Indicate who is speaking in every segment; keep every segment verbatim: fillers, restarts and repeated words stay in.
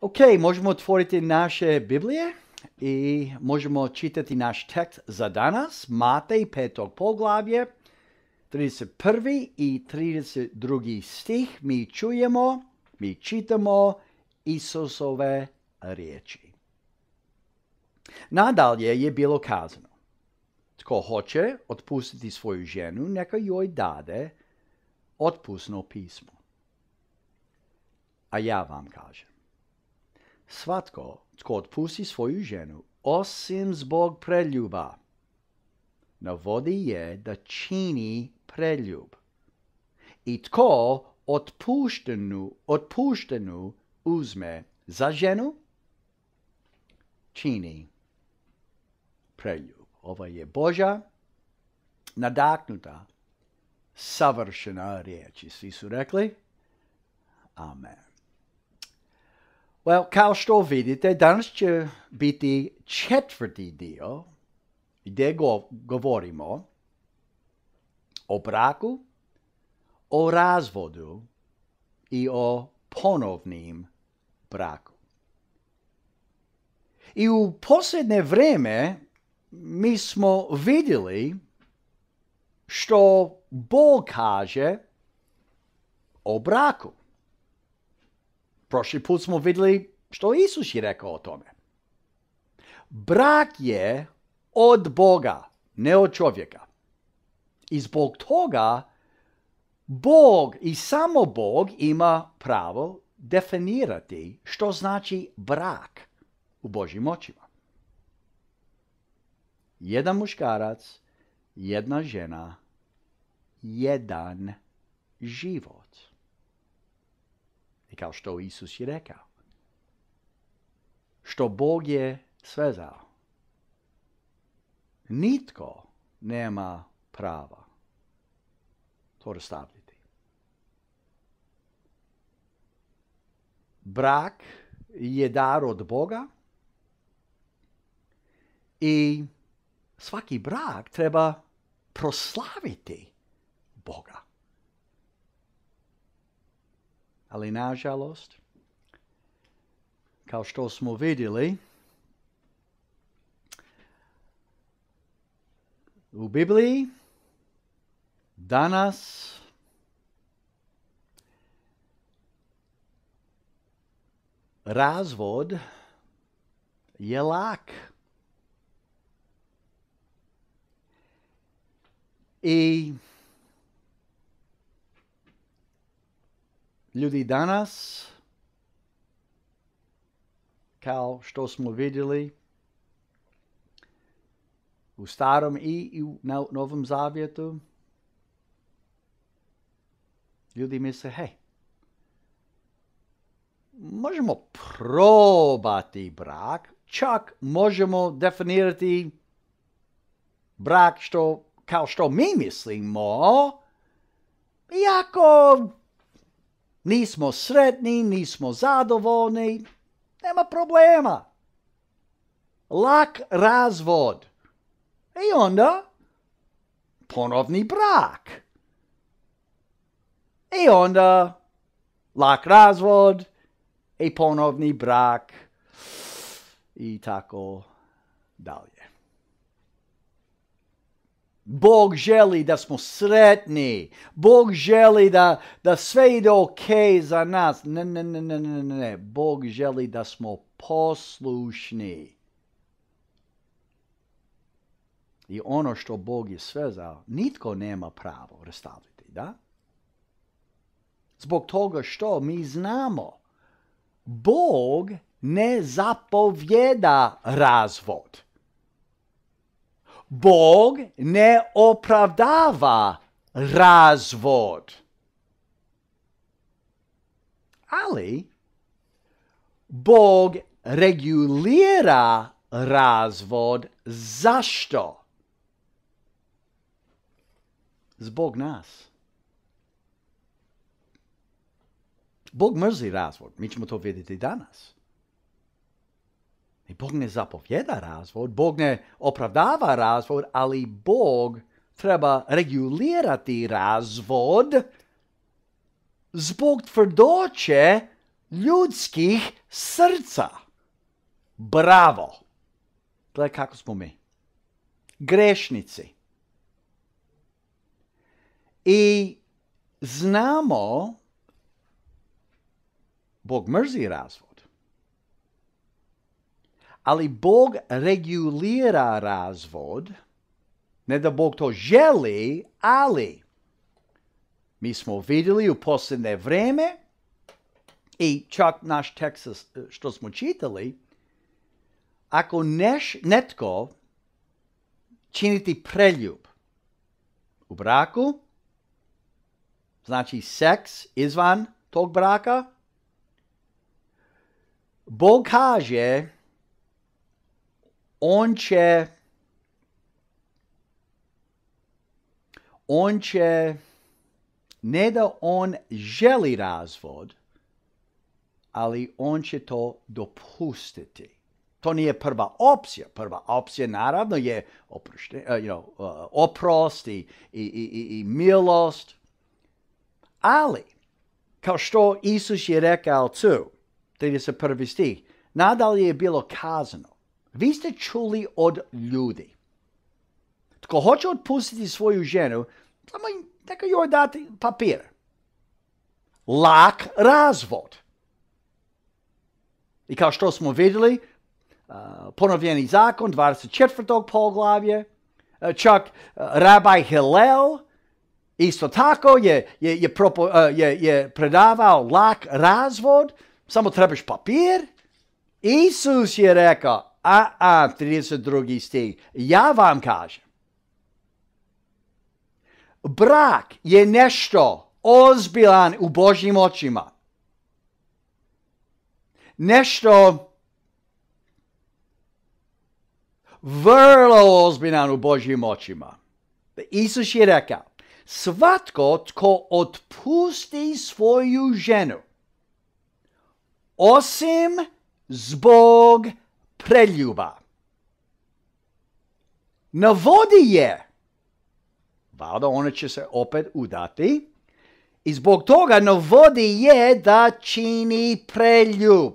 Speaker 1: Ok, možemo otvoriti naše Biblije i možemo čitati naš tekst za danas. Matej petog poglavlje, trideset prvi i trideset drugi stih. Mi čujemo, mi čitamo Isusove riječi. Nadalje je bilo kazano: tko hoće otpustiti svoju ženu, neka joj dade otpusno pismo. A ja vam kažem, svatko tko otpusti svoju ženu, osim zbog preljuba, navodi je da čini preljub. I tko otpuštenu, otpuštenu uzme za ženu, čini preljub. Ovo je Božja nadahnuta, savršena riječ. Svi su rekli amen. Well, kao što vidite, danas će biti četvrti dio gdje go, govorimo o braku, o razvodu i o ponovnim braku. I u posljednje vrijeme mi smo vidjeli što Bog kaže o braku. Prošli put smo vidjeli što Isus je rekao o tome. Brak je od Boga, ne od čovjeka. I zbog toga Bog i samo Bog ima pravo definirati što znači brak u Božjim očima. Jedan muškarac, jedna žena, jedan život. I kao što Isus je rekao, što Bog je svezao, nitko nema prava to rastavljati. Brak je dar od Boga i svaki brak treba proslaviti Boga. Ali nažalost, kao što smo vidjeli, u Bibliji danas razvod je lak. I ljudi danas, kao što smo vidjeli u Starom i u Novom Zavjetu, ljudi misle, hej, možemo probati brak, čak možemo definirati brak što, kao što mi mislimo, iako nismo sretni, nismo zadovoljni, nema problema. Lak razvod. I onda ponovni brak. I onda lak razvod i ponovni brak i tako dalje. Bog želi da smo sretni. Bog želi da, da sve ide ok za nas. Ne, ne, ne, ne, ne, ne. Bog želi da smo poslušni. I ono što Bog je svezao, nitko nema pravo rastaviti, da? Zbog toga što mi znamo, Bog ne zapovjeda razvod. Bog ne opravdava razvod. Ali Bog regulira razvod. Zašto? Zbog nas. Bog mrzi razvod. Mi ćemo to vidjeti danas. I Bog ne zapovjeda razvod, Bog ne opravdava razvod, ali Bog treba regulirati razvod zbog tvrdoće ljudskih srca. Bravo! Gledaj kako smo mi. Grešnici. I znamo, Bog mrzi razvod. Ali Bog regulira razvod. Ne da Bog to želi, ali mi smo vidjeli u posljednje vrijeme i čak naš tekst što smo čitali, ako neš, netko činiti preljub u braku, znači seks izvan tog braka, Bog kaže, on će, on će, ne da on želi razvod, ali on će to dopustiti. To nije prva opcija. Prva opcija naravno je oprošten, uh, you know, uh, oprost i, i, i, i milost. Ali, kao što Isus je rekao tu, trideset prvi stih, nadalje je bilo kazano, vi ste čuli od ljudi. Tko hoće otpustiti svoju ženu, samo neka joj dati papir. Lak razvod. I kao što smo vidjeli, uh, ponovljeni zakon, dvadeset četvrto poglavlje, uh, čak uh, rabaj Hillel, isto tako je, je, je, propo, uh, je, je predavao lak razvod, samo trebaš papir. Isus je rekao, a, a, trideset drugi stih, ja vam kažem, brak je nešto ozbiljan u Božjim očima. Nešto vrlo ozbiljan u Božjim očima. Isus je rekao, svatko tko otpusti svoju ženu, osim zbog preljuba, navodi je, valjda ona će se opet udati, i zbog toga navodi je da čini preljub.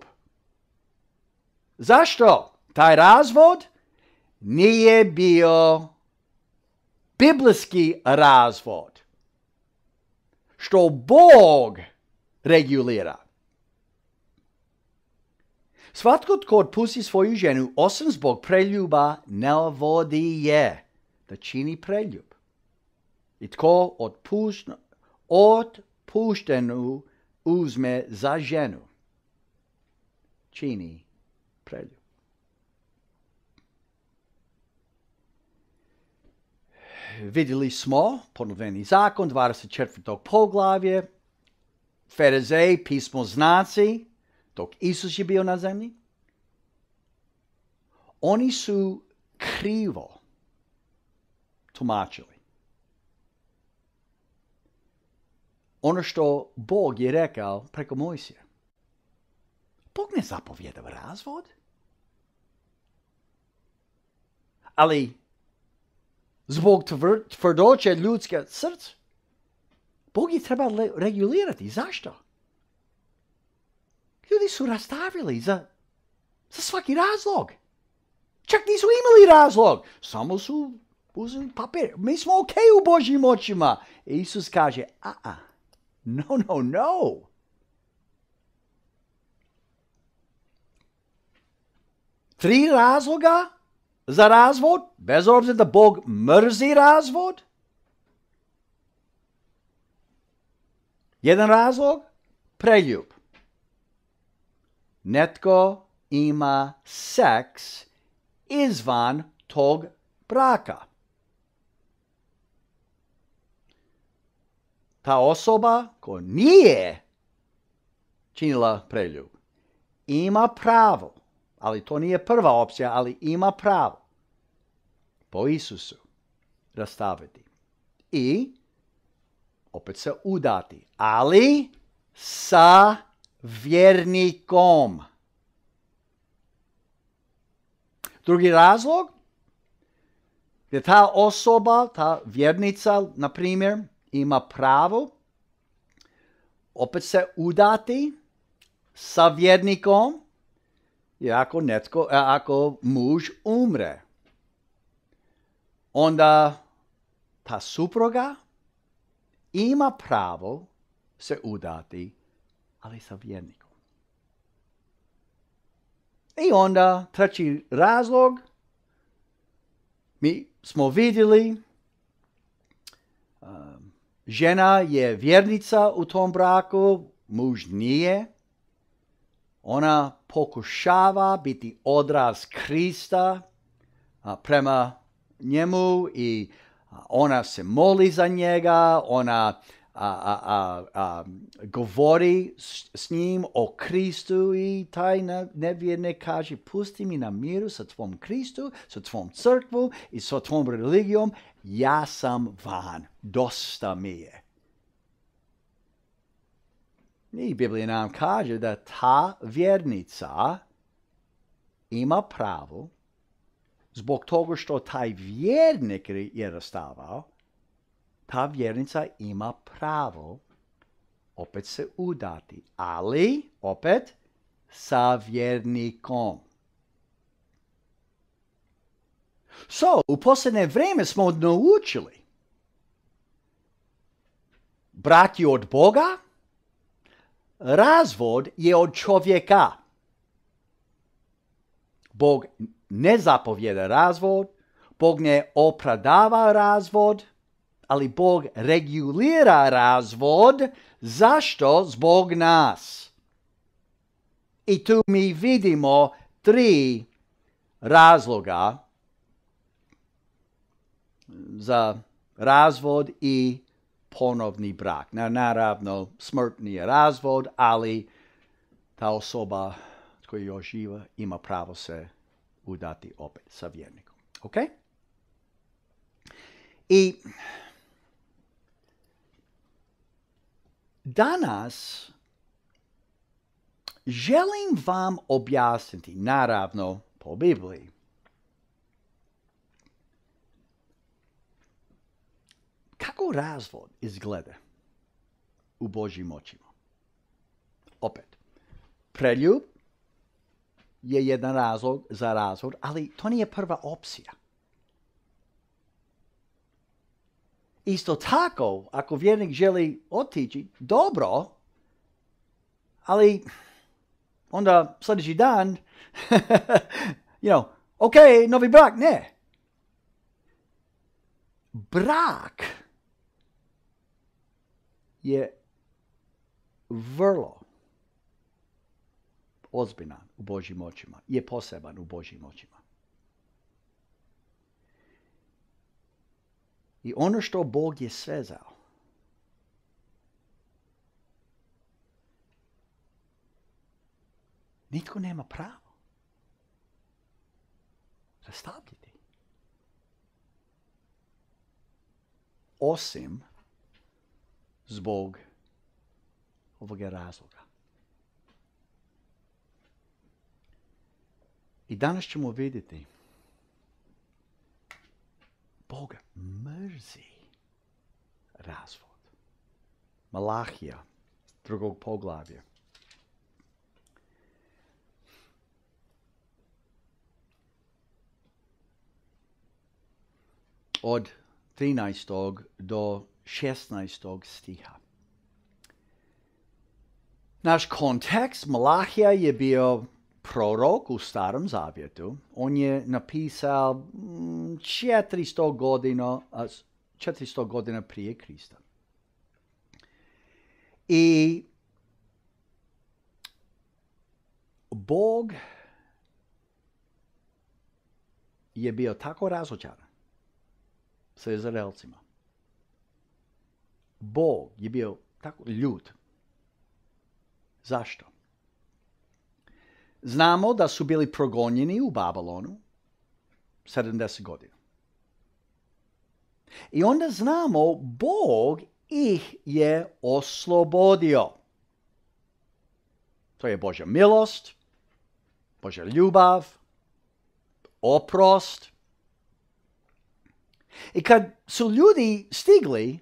Speaker 1: Zašto? Taj razvod nije bio biblijski razvod, što Bog regulira. Svatko tko otpusti svoju ženu, osim zbog preljuba, navodi je da čini preljub. I tko otpušta, otpuštenu uzme za ženu, čini preljub. Vidjeli smo ponovljeni zakon, dvadeset četvrto poglavlje, Farizeji, pismoznanci, dok Isus je bio na zemlji, oni su krivo tumačili ono što Bog je rekao preko Mojsija. Bog ne zapovjedava razvod. Ali zbog tvrdoće ljudske srca, Bog je treba regulirati. Zašto? Ljudi su rastavili za, za svaki razlog. Čak nisu imali razlog. Samo su uzeli papir. Mi smo ok u Božjim očima. Isus kaže, a, a, no, no, no. Tri razloga za razvod, bez obzira da Bog mrzi razvod. Jedan razlog, preljub. Netko ima seks izvan tog braka. Ta osoba koja nije činila preljub ima pravo, ali to nije prva opcija, ali ima pravo po Isusu rastaviti i opet se udati, ali sa vjernikom. Drugi razlog je ta osoba, ta vjernica, na primjer, ima pravo opet se udati sa vjernikom je ako, netko, ako muž umre. Onda ta supruga ima pravo se udati, ali sa vjernikom. I onda treći razlog, mi smo vidjeli, um, žena je vjernica u tom braku, muž nije. Ona pokušava biti odraz Krista a, prema njemu i a, ona se moli za njega, ona a, a, a, a, govori s, s njim o Kristu i taj nevjernik kaže pusti mi na miru sa tvom Kristu, sa tvom crkvu i sa tvom religijom, ja sam van, dosta mi je. I Biblija nam kaže da ta vjernica ima pravo, zbog toga što taj vjernik je rastavao, ta vjernica ima pravo opet se udati, ali opet sa vjernikom. So, u posljednje vrijeme smo naučili brak je od Boga, razvod je od čovjeka. Bog ne zapovjeda razvod, Bog ne opravdava razvod, ali Bog regulira razvod. Zašto? Zbog nas. I tu mi vidimo tri razloga za razvod i ponovni brak. Na, naravno, smrtni je razvod, ali ta osoba koja još živa ima pravo se udati opet sa vjernikom. Ok? I danas želim vam objasniti, naravno po Bibliji, kako razvod izgleda u Božjim očima. Opet, preljub je jedan razlog za razvod, ali to nije prva opcija. Isto tako, ako vjernik želi otići, dobro, ali onda sljedeći dan, you know, ok, novi brak, ne. Brak je vrlo ozbiljan u Božjim očima, je poseban u Božjim očima. I ono što Bog je svezao, nitko nema pravo rastavljati. Osim zbog ovoga razloga. I danas ćemo vidjeti Bog mrzi razvod. Malahija, drugog poglavlja. Od trinaestog do šesnaestog stiha. Naš kontekst, Malahija je bio prorok u Starom Zavjetu. On je napisao četiristo godina, četiristo godina prije Krista. I Bog je bio tako razočaran sa Izraelcima. Bog je bio tako ljut. Zašto? Znamo da su bili progonjeni u Babilonu sedamdeset godina. I onda znamo Bog ih je oslobodio. To je Božja milost, Božja ljubav, oprost. I kad su ljudi stigli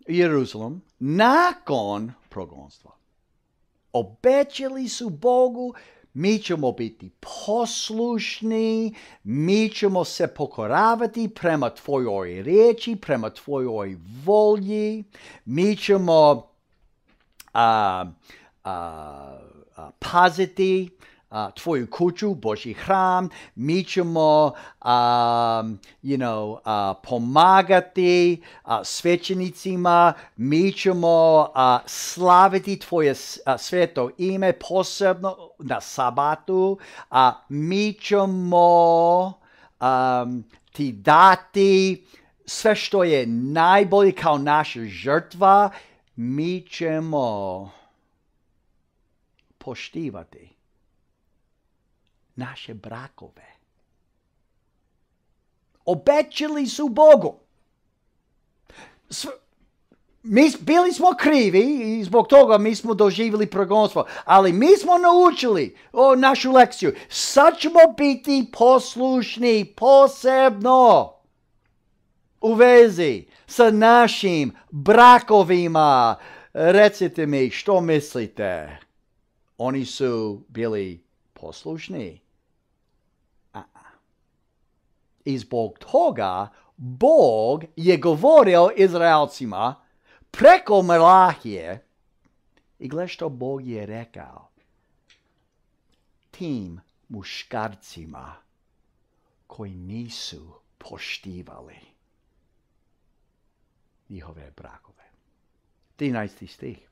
Speaker 1: u Jeruzalem nakon progonstva, Obećali su Bogu, mi ćemo biti poslušni, mi ćemo se pokoravati prema tvojoj riječi, prema tvojoj volji, mi ćemo a, a, a, paziti a, tvoju kuću, Božji hram, mi ćemo a, you know, a, pomagati a, svećenicima, mi ćemo a, slaviti tvoje a, sveto ime, posebno na sabatu, a mi ćemo a, ti dati sve što je najbolje kao naša žrtva, mi ćemo poštivati naše brakove. Obećali su Bogu. Mi bili smo krivi i zbog toga mi smo doživjeli progonstvo, ali mi smo naučili o, našu lekciju. Sad ćemo biti poslušni posebno u vezi sa našim brakovima. Recite mi što mislite. Oni su bili poslušni. A-a. I zbog toga Bog je govorio Izraelcima preko Malahije. I gle što Bog je rekao tim muškarcima koji nisu poštivali njihove brakove. trinaesti stih.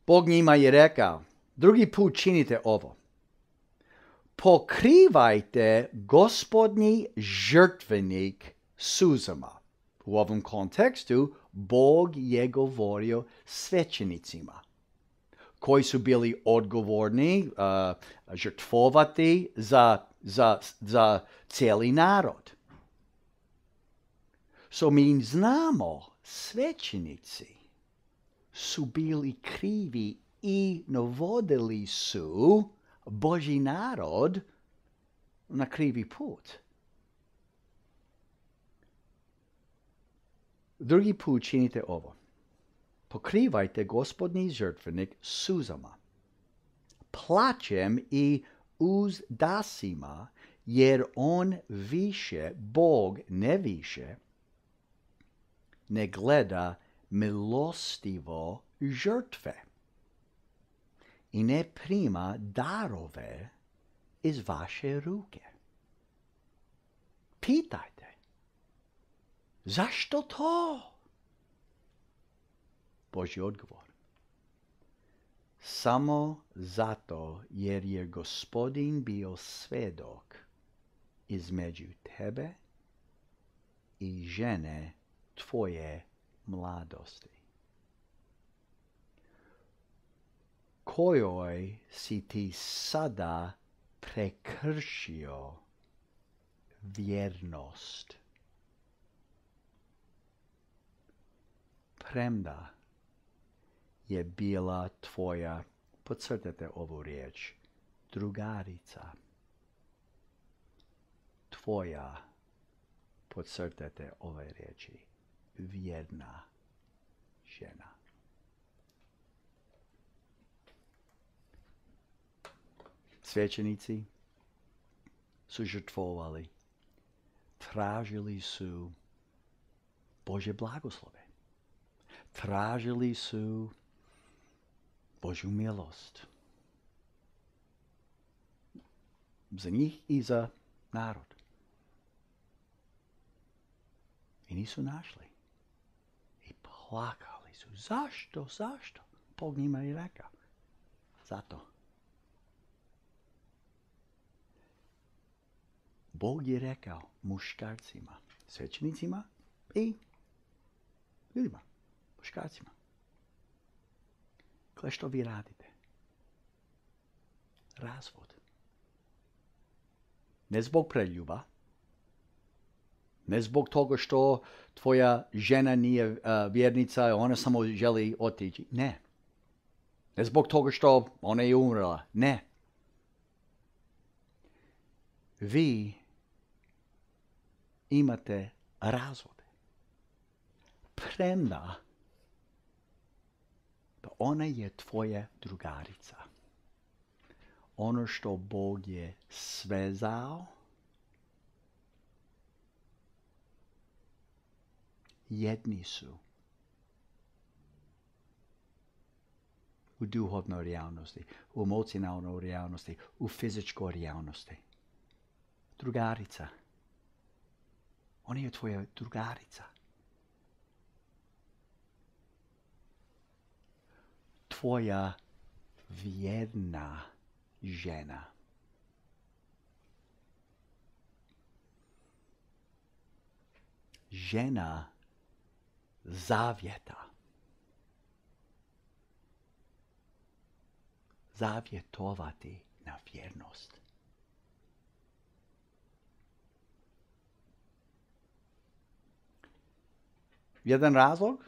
Speaker 1: Bog njima je rekao, drugi put činite ovo. Pokrivajte Gospodnji žrtvenik suzama. U ovom kontekstu Bog je govorio svećenicima koji su bili odgovorni uh, žrtvovati za, za, za cijeli narod. So mi znamo, svećenici su bili krivi i navodili su Božji narod na krivi put. Drugi put činite ovo. Pokrivajte Gospodnji žrtvenik suzama, plačem i uzdasima, jer on više, Bog ne više, ne gleda milostivo žrtve i ne prima darove iz vaše ruke. Pitajte, zašto to? Božji odgovor. Samo zato jer je Gospodin bio svedok između tebe i žene tvoje mladosti, kojoj si ti sada prekršio vjernost. Premda je bila tvoja, podcrtajte ovu riječ, drugarica. Tvoja, podcrtajte ove riječi, vjerna žena. Svećenici su žrtvovali, tražili su Božje blagoslove, tražili su Božju milost za njih i za narod. I nisu našli. I plakali su. Zašto? Zašto? Bog njima je rekao. Zato. Bog je rekao muškarcima, svećenicima i ljudima, muškarcima. Gle što vi radite. Razvod. Ne zbog preljuba, ne zbog toga što tvoja žena nije uh, vjernica, ona samo želi otići. Ne. Ne zbog toga što ona je umrla. Ne. Vi imate razvode. Premda da ona je tvoja drugarica. Ono što Bog je svezao, jedni su u duhovnoj realnosti, u emocionalnoj realnosti, u fizičkoj realnosti. Drugarica. Ona je tvoja drugarica. Tvoja vjerna žena. Žena zavjeta. Zavjetovati na vjernost. Jedan razlog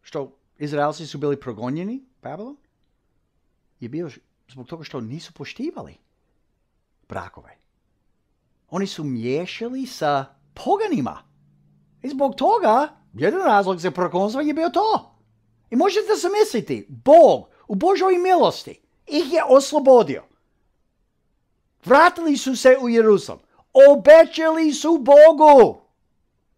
Speaker 1: što Izraelci su bili progonjeni, Babilon, je bio zbog toga što nisu poštivali brakove. Oni su miješali sa poganima. I zbog toga, jedan razlog za progonstvo je bio to. I možete se misliti, Bog u Božoj milosti ih je oslobodio. Vratili su se u Jerusalim. Obećali su Bogu.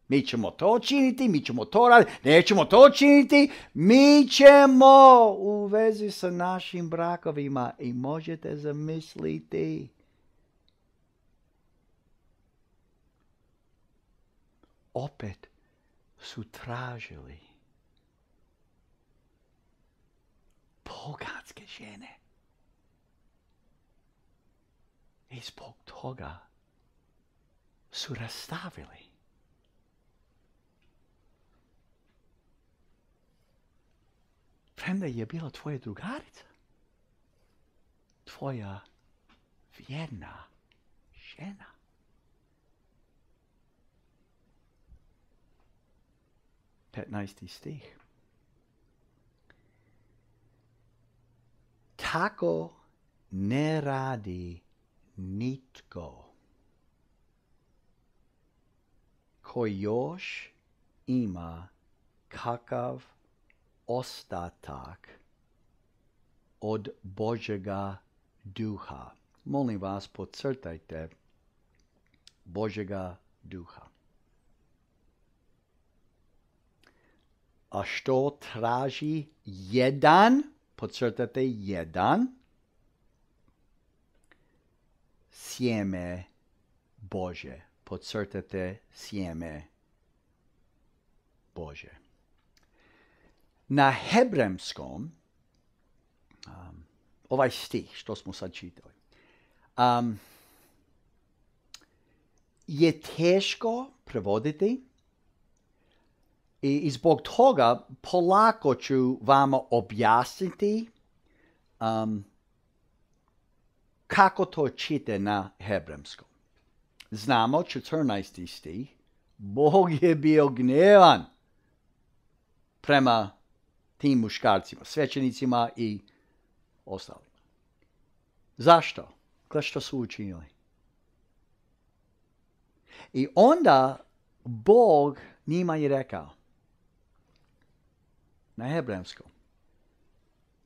Speaker 1: Mi ćemo to činiti, mi ćemo to raditi, nećemo to činiti, mi ćemo u vezi sa našim brakovima. I možete zamisliti. Opet su tražili poganske žene. I zbog toga su rastavili. Premda je bila tvoja drugarica. Tvoja vjerna žena. petnaesti stih. Tako ne radi nitko koji još ima kakav ostatak od Božjega duha. Molim vas, podcrtajte Božjega duha. A što traži jedan, podcrtajte jedan, sjeme Bože. Podcrtajte sjeme Bože. Na hebrejskom, um, ovaj stih što smo sad čitali, um, je teško prevoditi i, i zbog toga polako ću vama objasniti um, kako to čite na hebrejskom. Znamo, četrnaesti stih, Bog je bio gnevan prema tim muškarcima, svećenicima i ostalima. Zašto? Gle što su učinili. I onda Bog njima je rekao na hebrejskom,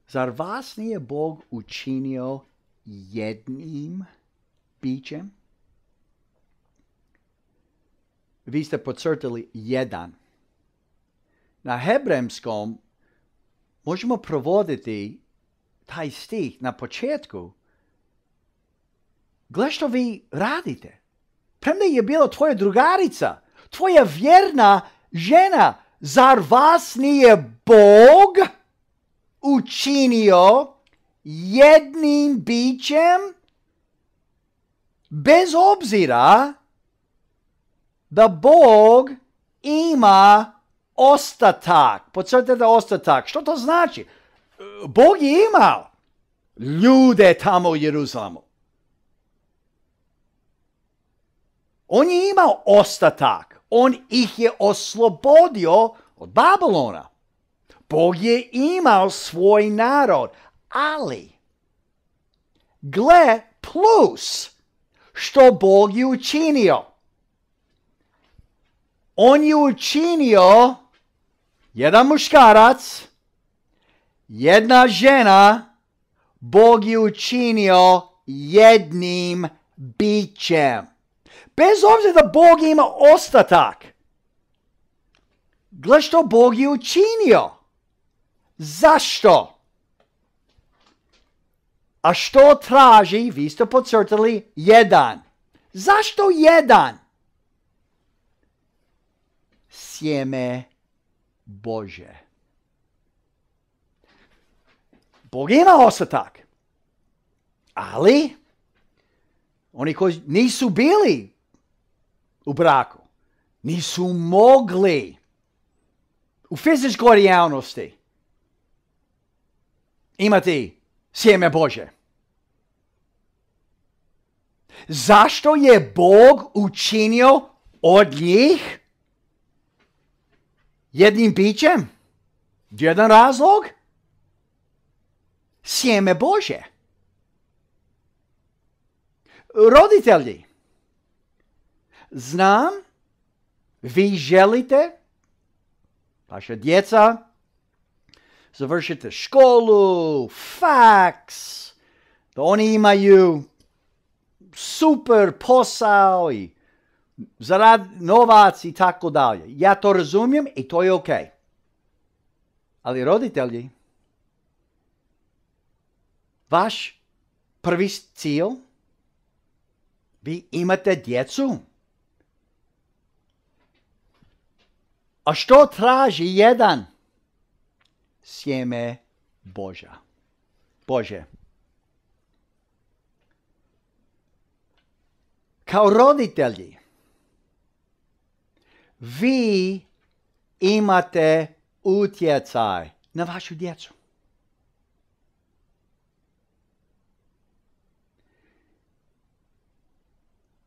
Speaker 1: zar vas nije Bog učinio jednim bićem? Vi ste podcrtali jedan. Na hebrejskom možemo provoditi taj stih na početku. Gle što vi radite. Premda je bila tvoja drugarica, tvoja vjerna žena, zar vas nije Bog učinio jednim bićem? Bez obzira da Bog ima ostatak. Podcrtajte ostatak. Što to znači? Bog je imao ljude tamo u Jeruzalemu. On je imao ostatak. On ih je oslobodio od Babilona. Bog je imao svoj narod. Ali, gle plus što Bog je učinio. On je učinio jedan muškarac, jedna žena, Bog je učinio jednim bićem. Bez obzira da Bog ima ostatak. Gle što Bog je učinio. Zašto? A što traži, vi ste podcrtali, jedan. Zašto jedan? Sjeme Bože. Bog ima ostatak. Ali, oni koji nisu bili u braku, nisu mogli u fizičkoj realnosti imati sjeme Bože. Zašto je Bog učinio od njih jednim bićem? Jedan razlog? Sjeme Bože. Roditelji, znam, vi želite, vaša djeca, završite školu, faks, da oni imaju super posao i zarad novac i tako dalje. Ja to razumijem i to je ok. Ali roditelji, vaš prvi cilj, vi imate djecu. A što traži jedan? Sjeme Božja. Bože. Kao roditelji, vi imate utjecaj na vašu djecu.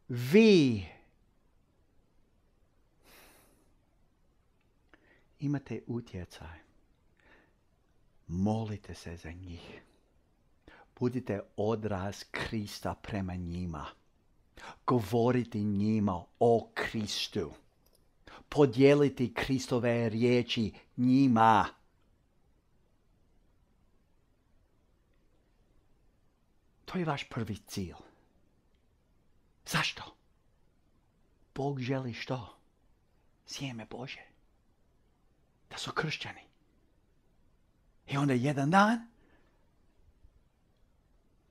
Speaker 1: Vi imate utjecaj. Molite se za njih. Budite odraz Krista prema njima. Govorite njima o Kristu. Podijeliti Kristove riječi njima. To je vaš prvi cilj. Zašto? Bog želi što? Sjeme Bože. Da su kršćani. I onda jedan dan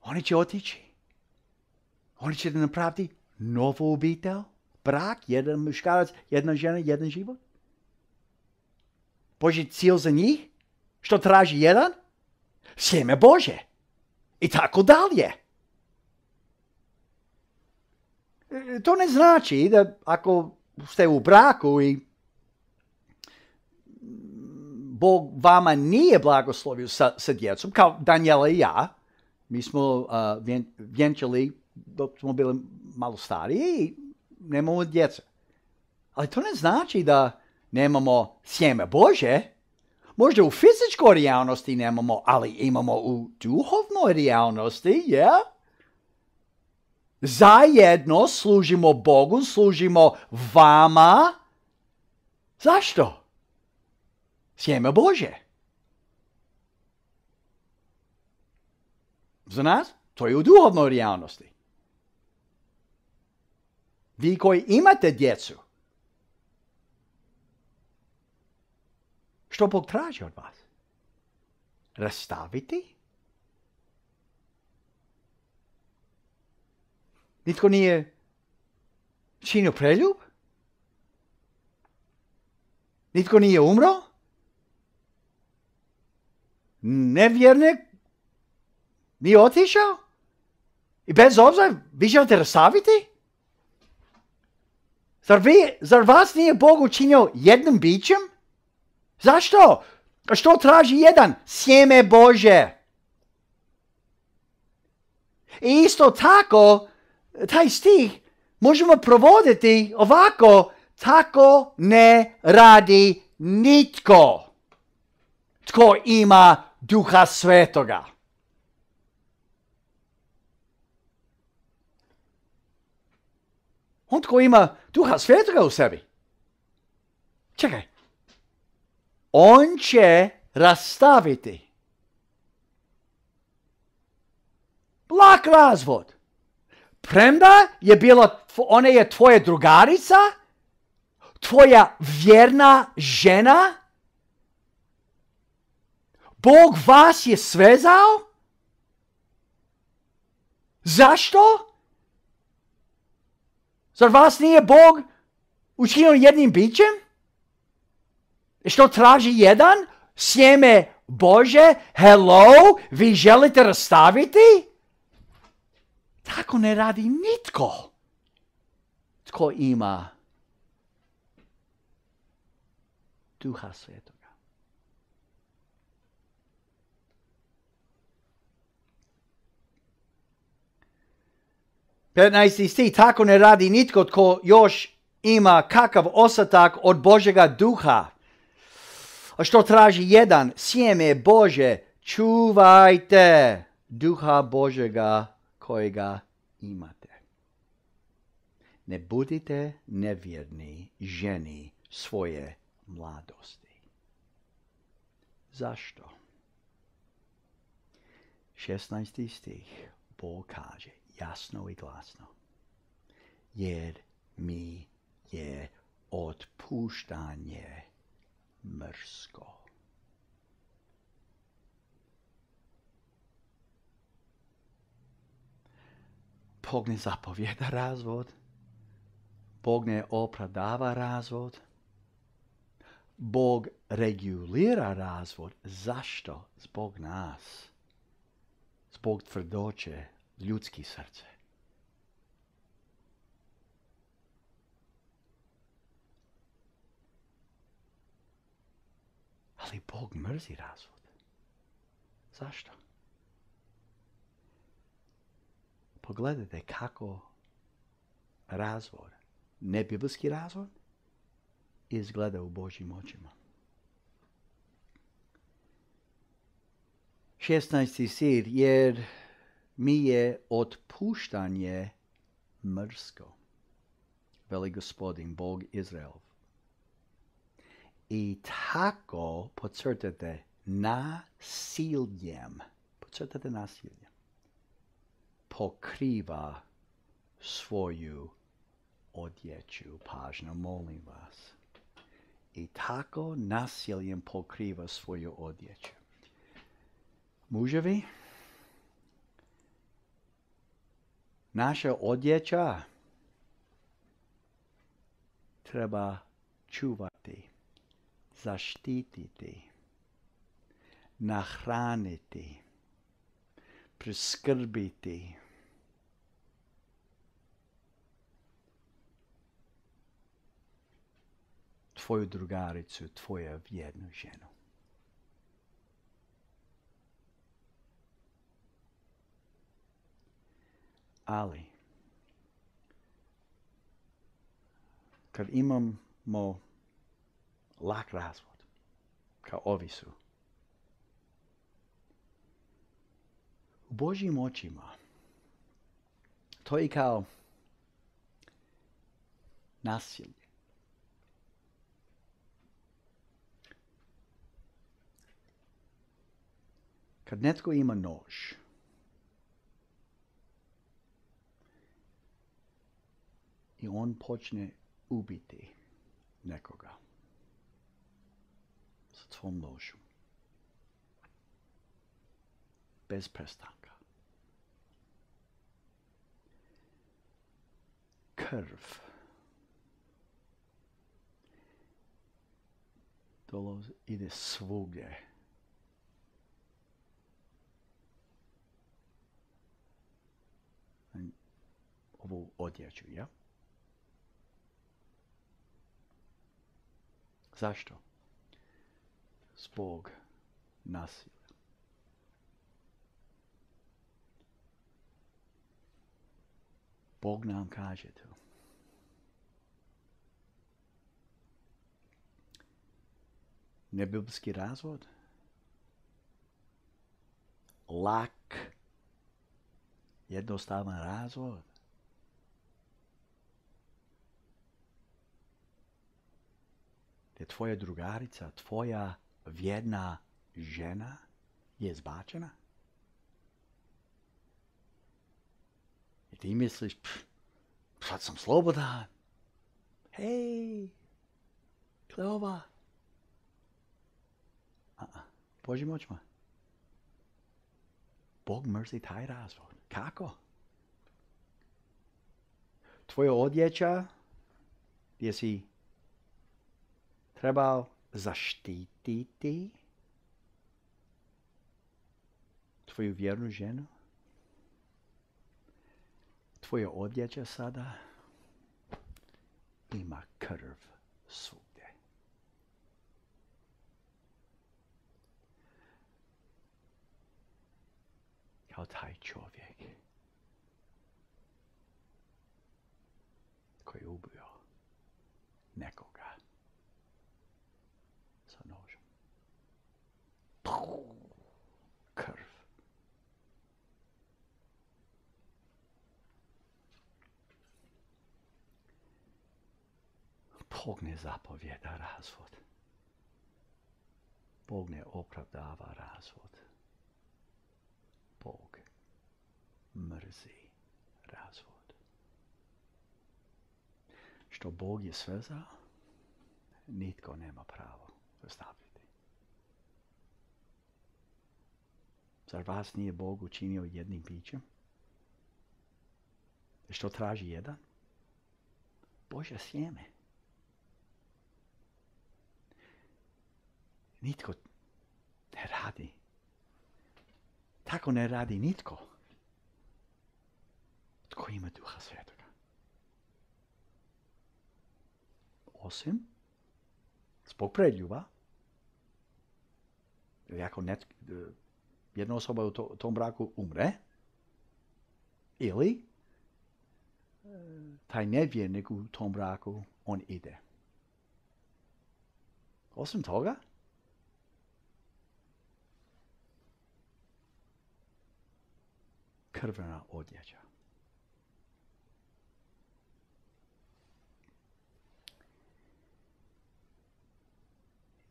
Speaker 1: oni će otići. Oni će da napraviti novu obitelj, brak, jedan muškarac, jedna žena, jedan život. Božji cilj za njih? Što traži jedan? Sjeme Bože. I tako dalje. To ne znači da ako ste u braku i Bog vama nije blagoslovio sa, sa djecom, kao Daniela i ja, mi smo uh, vjen, vjenčali dok smo bili malo stariji i nemamo djece. Ali to ne znači da nemamo sjeme Bože. Možda u fizičkoj realnosti nemamo, ali imamo u duhovnoj realnosti, ja? Yeah? Zajedno služimo Bogu, služimo vama. Zašto? Sjeme Bože. Za nas to je u duhovnoj realnosti. Vi koji imate djecu, što Bog traži od vas? Rastaviti? Nitko nije činio preljub? Nitko nije umro? Nevjernik nije otišao? I bez obzira vi želite rastaviti? Zar, vi, zar vas nije Bog učinio jednim bićem? Zašto? A što traži jedan? Sjeme Bože. I isto tako, taj stih možemo provoditi ovako. Tako ne radi nitko tko ima Duha Svetoga. On tko ima Duha Svetoga u sebi. Čekaj. On će rastaviti. Lak razvod. Premda je bila, ona je tvoja drugarica, tvoja vjerna žena, Bog vas je svezao. Zašto? Zar vas nije Bog učinio jednim bićem? Što traži jedan? Sjeme Bože, hello, vi želite rastaviti? Tako ne radi nitko tko ima Duha Svetoga. petnaesti stih, tako ne radi nitko tko još ima kakav ostatak od Božega duha. A što traži jedan? Sjeme Bože, čuvajte duha Božega kojega imate. Ne budite nevjerni ženi svoje mladosti. Zašto? šesnaesti stih, Bog kaže jasno i glasno. Jer mi je otpuštanje mrsko. Bog ne zapovjeda razvod. Bog ne opravdava razvod. Bog regulira razvod. Zašto? Zbog nas. Zbog tvrdoće ljudskih srce. Ali Bog mrzi razvod. Zašto? Pogledajte kako razvod, nebiblijski razvod, izgleda u Božjim očima. šesnaesti stih, jer mi je otpuštanje mrsko, veli Gospodin, Bog Izraelov. I tako, podcrtate, nasiljem, podcrtate nasiljem, pokriva svoju odjeću. Pažnju, molim vas. I tako nasiljem pokriva svoju odjeću. Muževi, naša odjeća treba čuvati, zaštititi, nahraniti, priskrbiti. Tvoju drugaricu, tvoju vjernu ženu. Ali, kad imamo lak razvod, kao ovi su, u Božjim očima, to je kao nasilje. Kad netko ima nož, i on počne ubiti nekoga sa svom nožom, bez prestanka. Krv dolazi, ide svugdje. Ovu odjeću, ja? Zašto? Zbog nasilja. Bog nam kaže to. Nebiblijski razvod, lak, jednostavan razvod, gdje tvoja drugarica, tvoja vjerna žena je zbačena? I ti misliš, pff, sad sam slobodan. Hej, Kleova. A-a, Božim očima. Bog mrzi taj razvod. Kako? Tvoja odjeća gdje si trebao zaštititi tvoju vjernu ženu, tvoja odjeća sada ima krv svugdje. Kao taj čovjek koji je ubio nekoga sa nožem. Krv. Bog ne zapovjeda razvod. Bog ne opravdava razvod. Bog mrzi razvod. Što Bog je svezao, nitko nema pravo rastaviti. Zar vas nije Bog učinio jednim bićem? Što traži jedan? Božje sjeme. Nitko ne radi. Tako ne radi nitko. Tko ima Duha Svetoga. Osim zbog predljuba. Ili ako net, jedna osoba u to, tom braku umre, ili taj nevjernik u tom braku, on ide. Osim toga, krvena odjeća.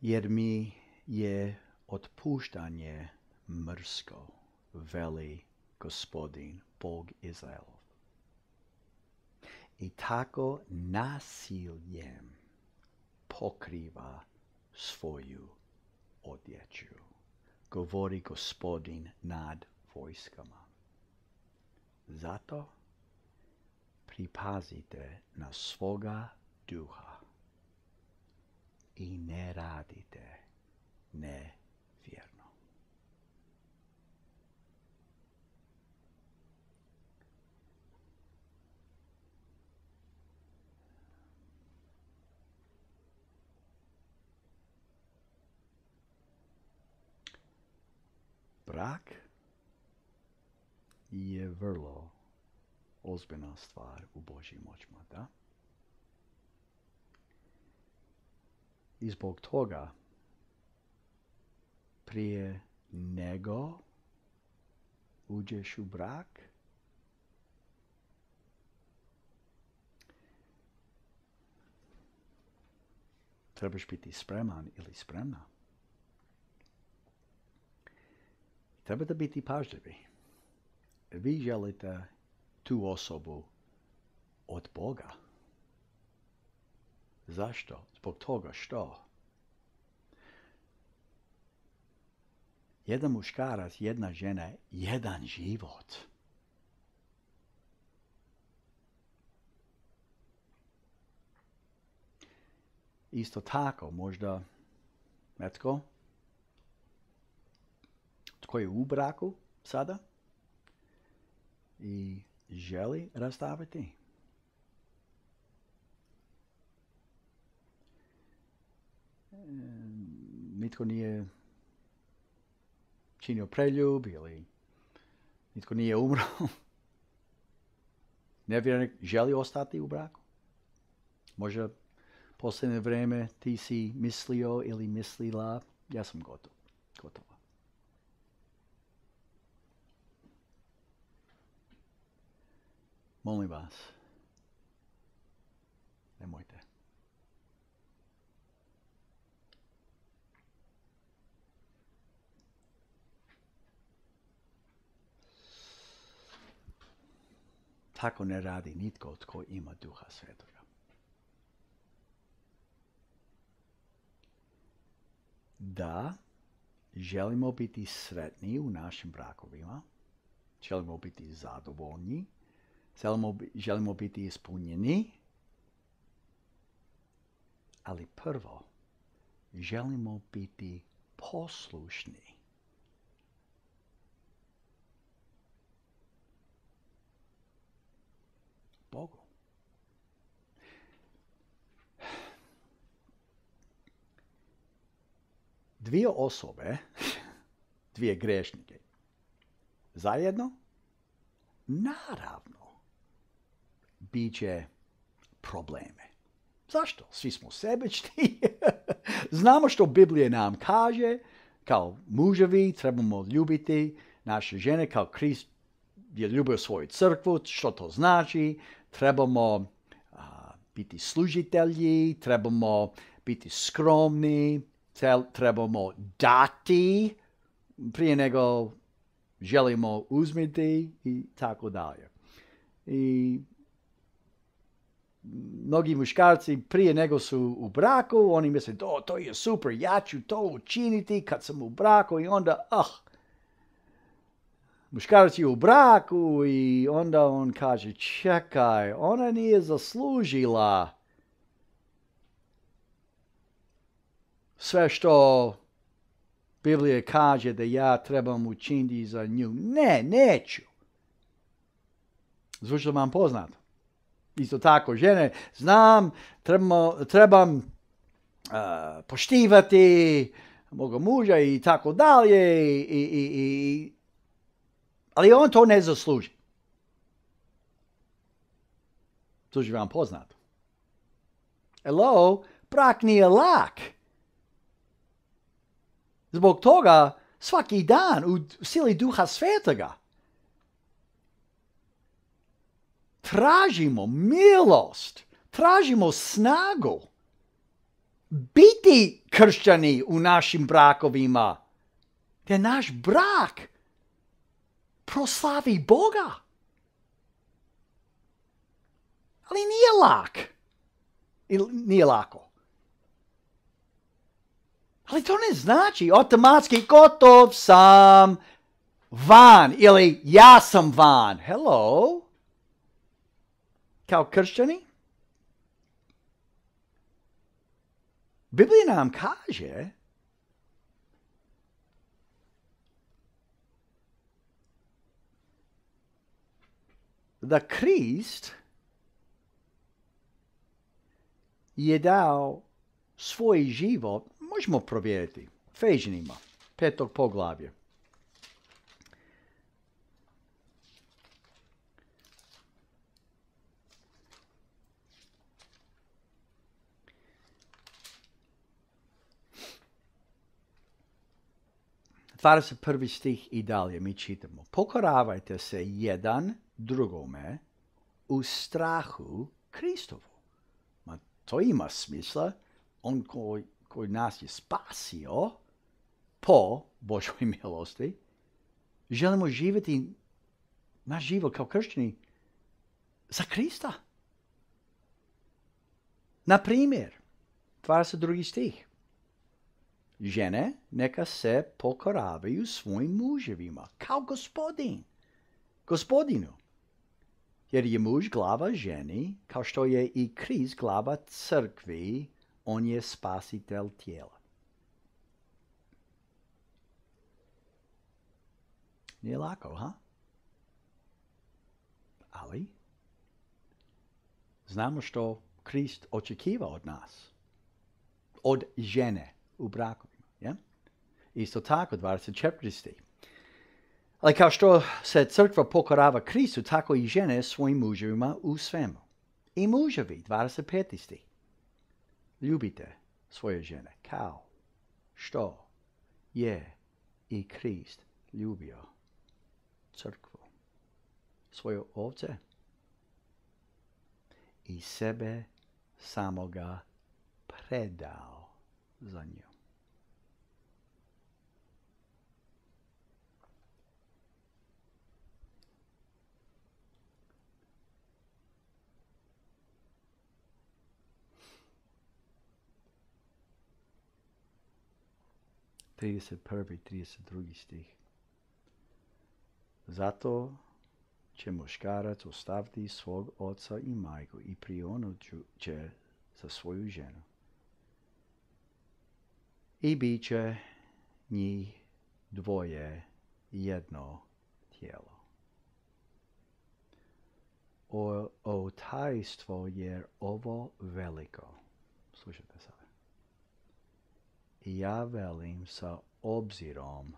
Speaker 1: Jer mi je otpuštanje mrsko, veli Gospodin, Bog Izraelov. I tako nasiljem pokriva svoju odjeću, govori Gospodin nad vojskama. Zato pripazite na svoga duha i ne radite nevjerno. Brak je vrlo ozbiljna stvar u Božjim očima, da? I zbog toga prije nego uđeš u brak, trebaš biti spreman ili spremna. Trebate biti pažljivi. Vi želite tu osobu od Boga. Zašto? Zbog toga što? Jedan muškarac, jedna žena, jedan život. Isto tako, možda netko tko je u braku sada i želi rastaviti. Nitko nije činio preljub ili nitko nije umro. Nevjernik želi ostati u braku. Možda posljednje vrijeme ti si mislio ili mislila, ja sam gotov. Gotova. Molim vas, nemojte. tako ne radi nitko tko ima Duha Svetoga. Da, želimo biti sretni u našim brakovima, želimo biti zadovoljni, želimo, želimo biti ispunjeni, ali prvo želimo biti poslušni. Bogu. Dvije osobe, dvije grešnike, zajedno, naravno, bit će probleme. Zašto? Svi smo sebični. Znamo što Biblija nam kaže, kao muževi trebamo ljubiti naše žene, kao Krist je ljubio svoju crkvu, što to znači, trebamo a, biti služitelji, trebamo biti skromni, trebamo dati prije nego želimo uzmiti i tako dalje. I mnogi muškarci prije nego su u braku, oni misle, to, to je super, ja ću to učiniti kad sam u braku i onda, ah, muškarac je u braku i onda on kaže, čekaj, ona nije zaslužila sve što Biblija kaže da ja trebam učiniti za nju. Ne, neću. Zvuči vam poznato. Isto tako, žene, znam, trebamo, trebam uh, poštivati moga muža i tako dalje, i, i, i, ali on to ne zasluži. Zvuči vam poznato. Hello, brak nije lak. Zbog toga svaki dan u sili Duha Svetoga tražimo milost, tražimo snagu biti kršćani u našim brakovima, da naš brak proslavi Boga. Ali nije lak. Ili nije lako. Ali to ne znači automatski gotov sam van ili ja sam van. Hello? Kao kršćani? Biblija nam kaže da Krist je dao svoj život, možemo provjeriti, Efežanima, petog poglavlja. dvadeset prvi stih i dalje mi čitamo. Pokoravajte se jedan drugome u strahu Kristovu. Ma to ima smisla. On koji, koji nas je spasio po Božoj milosti, želimo živjeti naš život kao kršćani za Krista. Na primjer, dvadeset drugi stih. Žene neka se pokoravaju svojim muževima kao gospodin, gospodinu. Jer je muž glava ženi, kao što je i Krist glava crkvi, on je spasitelj tijela. Nije lako, ha? Ali znamo što Krist očekiva od nas. Od žene u brakovima. Ja? Isto tako, dvadeset četvrti stih. Ali kao što se crkva pokorava Kristu, tako i žene svojim muževima u svemu. I muževi, dvadeset peti stih. Ljubite svoje žene kao što je i Krist ljubio crkvu, svoje ovce i sebe samoga predao za nju. trideset prvi i trideset drugi stih. Zato će muškarac ostaviti svog oca i majku i prionut će za svoju ženu. I bit će njih dvoje jedno tijelo. O, o tajstvo je ovo veliko. Slušajte sada. I ja velim sa obzirom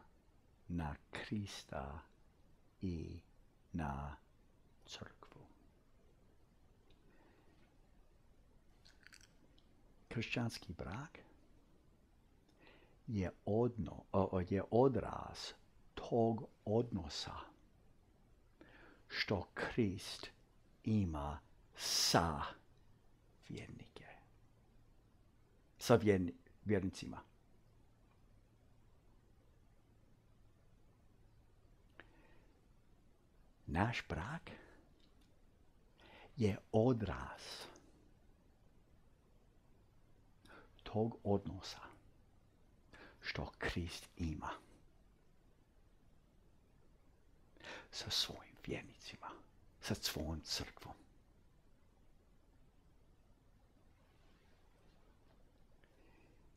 Speaker 1: na Krista i na crkvu. Kršćanski brak je, odno, o, je odraz tog odnosa što Krist ima sa vjernike. Sa vjerni, vjernicima. Naš brak je odraz tog odnosa što Krist ima sa svojim vjernicima, sa svojom crkvom.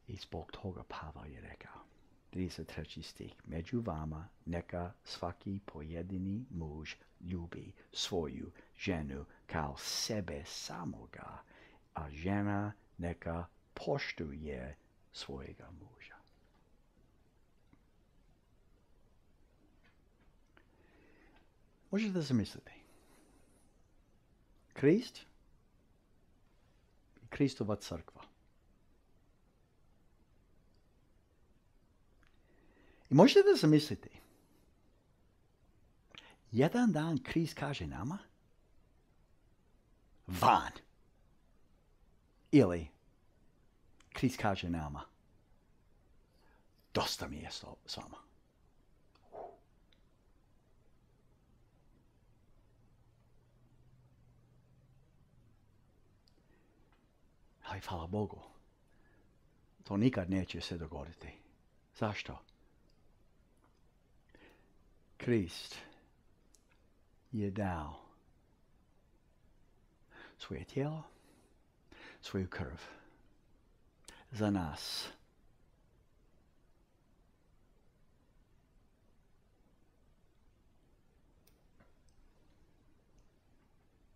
Speaker 1: I zbog toga Pavel je rekao, trideset treći stih, među vama neka svaki pojedini muž ljubi svoju ženu kao sebe samoga, a žena neka poštuje svojega muža. Možete zamisliti. Krist i Kristova crkva. I možete zamisliti. Jedan dan Krist kaže nama van. Ili Krist kaže nama dosta mi je s vama. Ali hvala Bogu, to nikad neće se dogoditi. Zašto? Krist je dao svoje tijelo, svoju krv za nas.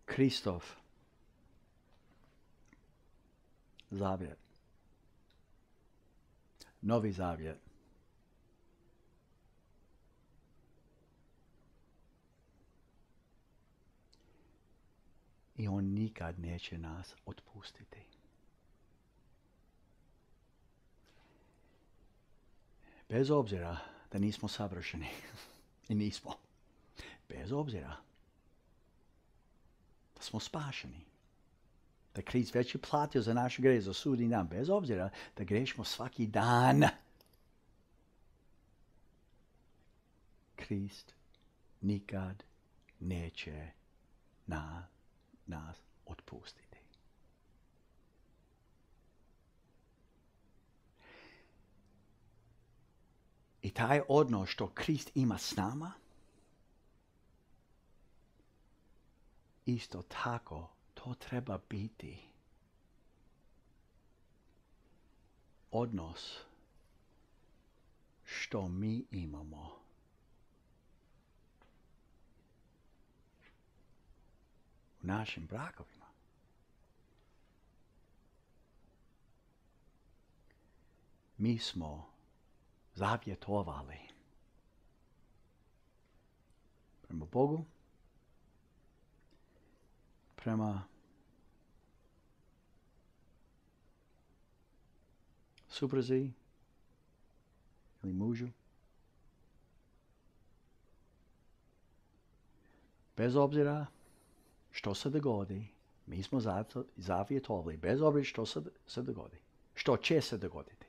Speaker 1: Kristov zavjet, novi zavjet, i on nikad neće nas otpustiti. Bez obzira da nismo savršeni, i nismo, bez obzira da smo spašeni, da Krist već je platio za naš greh, za sudnji dan, bez obzira da grešimo svaki dan. Krist nikad neće na nas otpustiti. I taj odnos što Krist ima s nama, isto tako to treba biti odnos što mi imamo u našim brakovima. Mi smo zavjetovali prema Bogu, prema supruzi ili mužu. Bez obzira što se dogodi, mi smo zavjetovali, bez obzira što se, se dogodi, što će se dogoditi.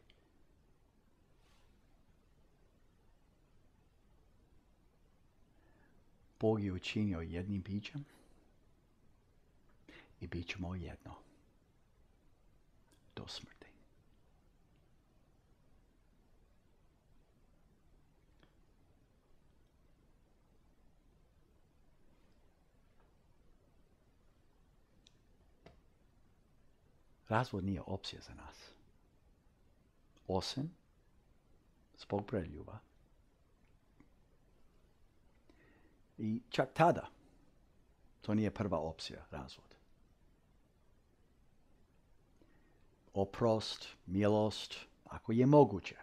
Speaker 1: Bog je učinio jednim bićem i bit ćemo jedno do smrti. razvod nije opcija za nas. Osim zbog preljuba. I čak tada to nije prva opcija, razvod. Oprost, milost, ako je moguće.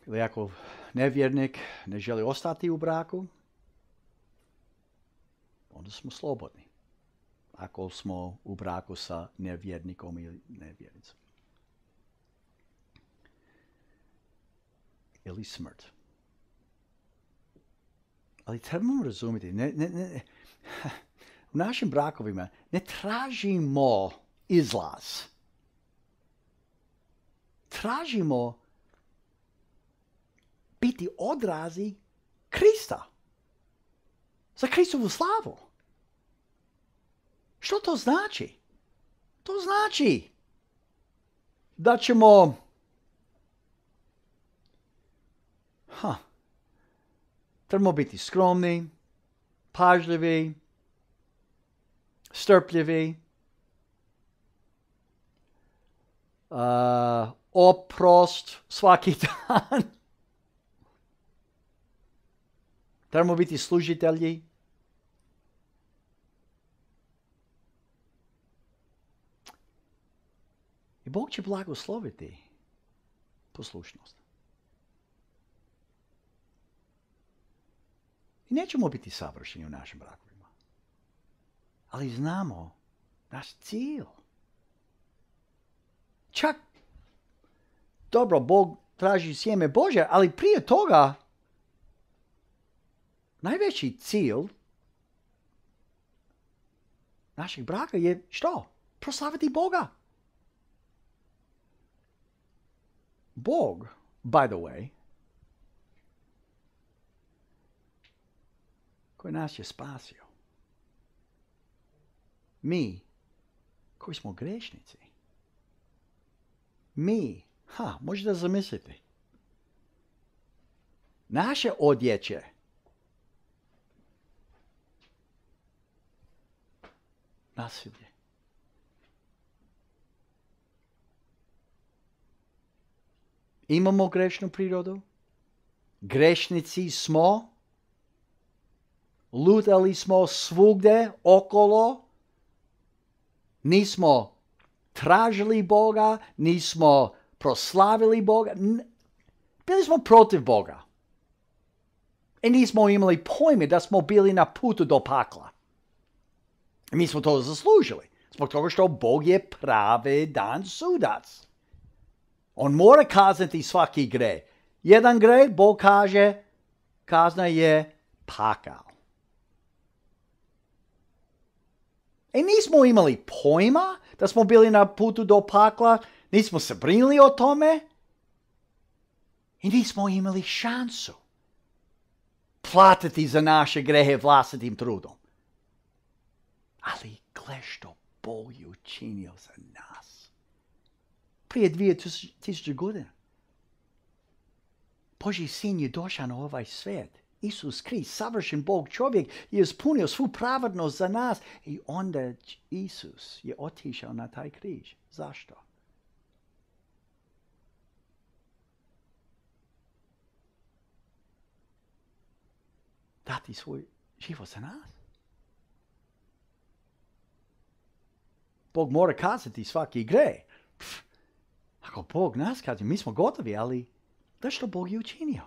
Speaker 1: Ili ako nevjernik ne želi ostati u braku, onda smo slobodni. Ako smo u braku sa nevjernikom ili nevjernicom. Ili smrt. Ali trebamo razumjeti, ne, ne, ne, u našim brakovima ne tražimo izlaz. Tražimo biti odrazi Krista. Za Kristovu slavu. Što to znači? To znači da ćemo ha, trebamo biti skromni, pažljivi, strpljivi, uh, oprost svaki dan. Trebamo biti služitelji. I Bog će blagosloviti poslušnost. I nećemo biti savršeni u našim brakovima. Ali znamo naš cilj. Čak, dobro, Bog traži sjeme Božje, ali prije toga najveći cilj našeg braka je što? Proslaviti Boga. Bog, by the way, koji nas je spasio. Mi, koji smo grešnici. Mi, ha, možete zamisliti. Naše odjeće nasilje. Imamo grešnu prirodu. Grešnici smo. Lutali smo svugde okolo. Nismo tražili Boga. Nismo proslavili Boga. Bili smo protiv Boga. I nismo imali pojme da smo bili na putu do pakla. Mi smo to zaslužili. Zbog toga što Bog je pravedan sudac. On mora kazniti svaki greh. Jedan greh, Bog kaže, kazna je pakao. I nismo imali pojma da smo bili na putu do pakla. Nismo se brinuli o tome. I nismo imali šansu platiti za naše grehe vlastitim trudom. Ali gle što Bog je učinio za nas. Prije dvije tisuće godina. Božji sin je došao na ovaj svijet. Isus Krist, savršen Bog čovjek, je ispunio svu pravednost za nas. I onda Isus je otišao na taj križ. Zašto? Dati svoj život za nas. Bog mora kazati svaki greh. Ako Bog nas kazni, mi smo gotovi, ali da što Bog je učinio?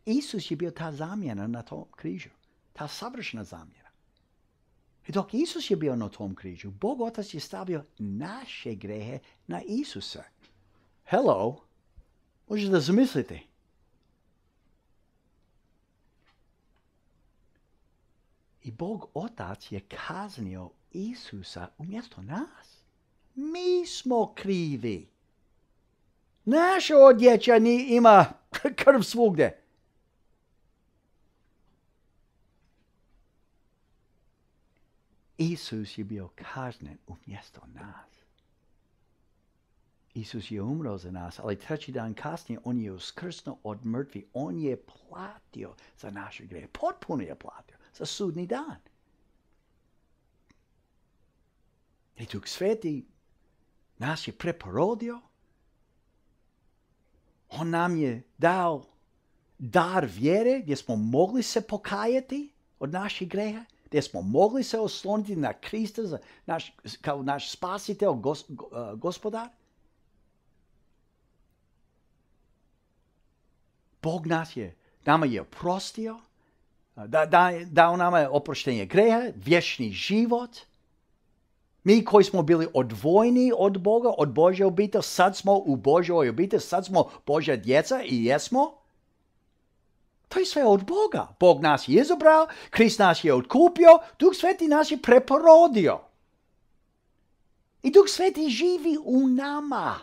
Speaker 1: Isus je bio ta zamjena na tom križu. Ta savršena zamjena. I dok Isus je bio na tom križu, Bog Otac je stavio naše grehe na Isusa. Hello? Možete da zamislite. I Bog Otac je kaznio Isusa umjesto nas. Mi smo krivi. Naša odjeća ima krv svugdje. Isus je bio kažnjen umjesto nas. Isus je umro za nas, ali treći dan kasnije on je uskrsnuo od mrtvi. On je platio za naše grehe. Potpuno je platio za sudni dan. I Duh Sveti nas je preporodio. On nam je dao dar vjere gdje smo mogli se pokajati od naših greha, gdje smo mogli se osloniti na Krista za naš, kao naš spasitelj, gos, uh, gospodar. Bog nas je, nama je oprostio, da, da, dao nama je oproštenje greha, vječni život. Mi koji smo bili odvojeni od Boga, od Božje obitelji, sad smo u Božjoj obitelji, sad smo Božja djeca i jesmo. To je sve od Boga. Bog nas je izabrao, Krist nas je otkupio, Duh Sveti nas je preporodio. I Duh Sveti živi u nama.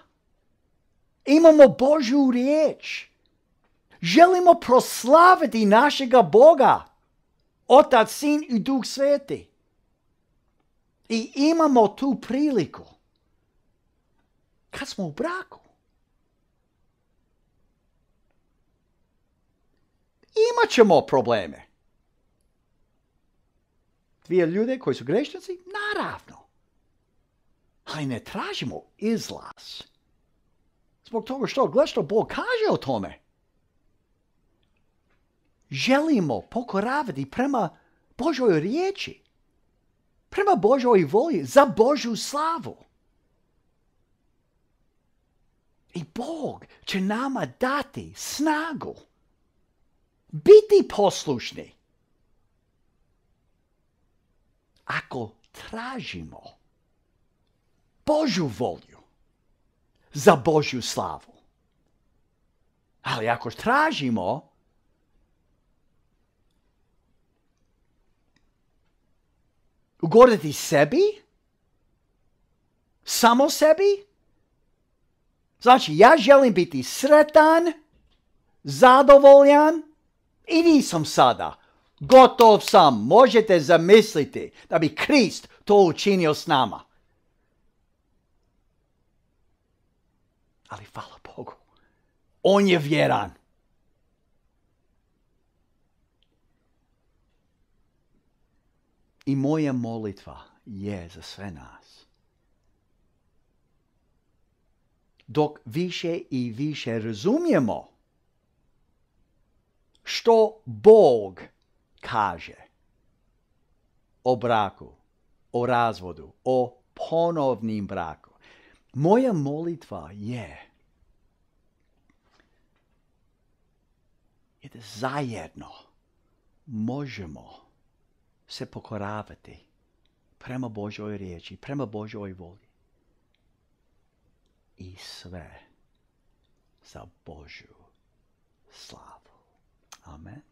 Speaker 1: Imamo Božju riječ. Želimo proslaviti našega Boga, Otac, Sin i Duh Sveti. I imamo tu priliku kad smo u braku. Imat ćemo probleme. Dvije ljude koji su grešnici, naravno. Ali ne tražimo izlaz. Zbog toga što, gledaj što Bog kaže o tome. Želimo pokoravati prema Božoj riječi. Prema Božoj volji, za Božju slavu. I Bog će nama dati snagu. Biti poslušni. Ako tražimo Božju volju za Božju slavu. Ali ako tražimo ugoditi sebi, samo sebi, znači ja želim biti sretan, zadovoljan i nisam sada. Gotov sam, možete zamisliti da bi Krist to učinio s nama. Ali hvala Bogu, on je vjeran. I moja molitva je za sve nas. Dok više i više razumijemo što Bog kaže o braku, o razvodu, o ponovnim braku. Moja molitva je, je da zajedno možemo se pokoravati prema Božoj riječi, prema Božoj volji. I sve za Božju slavu. Amen.